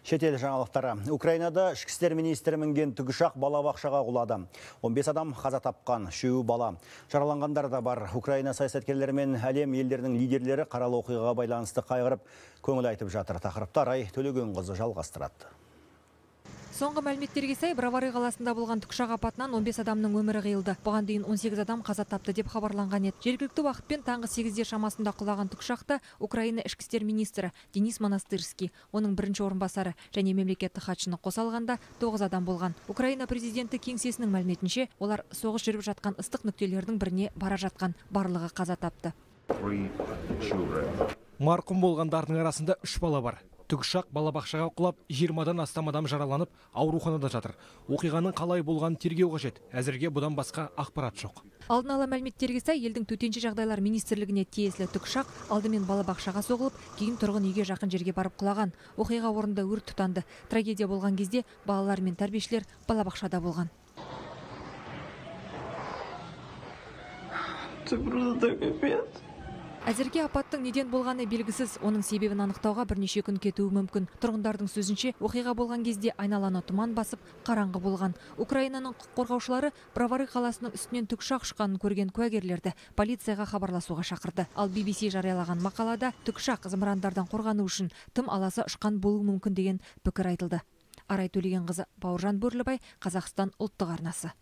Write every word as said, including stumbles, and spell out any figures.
Шетел жаңалықтары. Украинада ішкі істер министрі мінген тікұшақ балабақшаға құлады. он бес адам қаза тапқан, үшеуі бала. Жараланғандар да бар. Украина саясаткерлері мен әлем елдерінің лидерлері қаралы оқиғаға байланысты қайғырып, көңіл айтып жатыр. Тақырыпты Арай Төлегенқызы жалғастырады. Соңғы мәліметтерге сай, Бровары қаласында болған тікұшақ апатынан он бес адамның өмірі қиылды. Бұған дейін он сегіз адам қаза тапты деп хабарланған еді. Жергілікті уақытпен таңғы сегізде шамасында құлаған тікұшақта Украина ішкі істер министрі Денис Монастырский, оның бірінші орынбасары және мемлекеттік хатшыны қоса алғанда тоғыз адам болған. Украина президенті кеңсесінің мәліметінше, олар соғыс жүріп жатқан ыстық нүктелердің біріне бара жатқан, барлығы қаза тапты. Марқұм болғандардың арасында үш бала бар. Тікұшақ балабақшаға құлап, жиырмадан астам адам жараланып, ауруханада жатыр. Оқиғаның қалай болғанын тергеу қажет. Әзірге бұдан басқа ақпарат жоқ. Алдын ала мәліметтерге сай, елдің төтенше жағдайлар министрлігіне тиесілі тікұшақ алдымен балабақшаға соғылып, кейін тұрғын үйге жақын жерге барып құлаған. Оқиға орнында өрт тұтанды. Трагедия болған кезде балалар мен тәрбиешілер балабақшада болған. Әзірге апаттың неден болғаны белгісіз, оның себебін анықтауға бірнеше күн кетуі мүмкін. Тұрғындардың сөзінше, оқиға болған кезде айналаны тұман басып, қараңғы болған. Украинаның құқық қорғаушылары Бровары қаласының үстінен тікұшақ ұшқанын көрген куәгерлерді полицияға хабарласуға шақырды. Ал би би си жариялаған мақалада тікұшақ зымырандардан қорғану үшін тым аласа ұшқан болуы мүмкін деген пікір айтылды. Арай Төлегенқызы, Бауыржан Бөрлібай, Қазақстан ұлттық арнасы.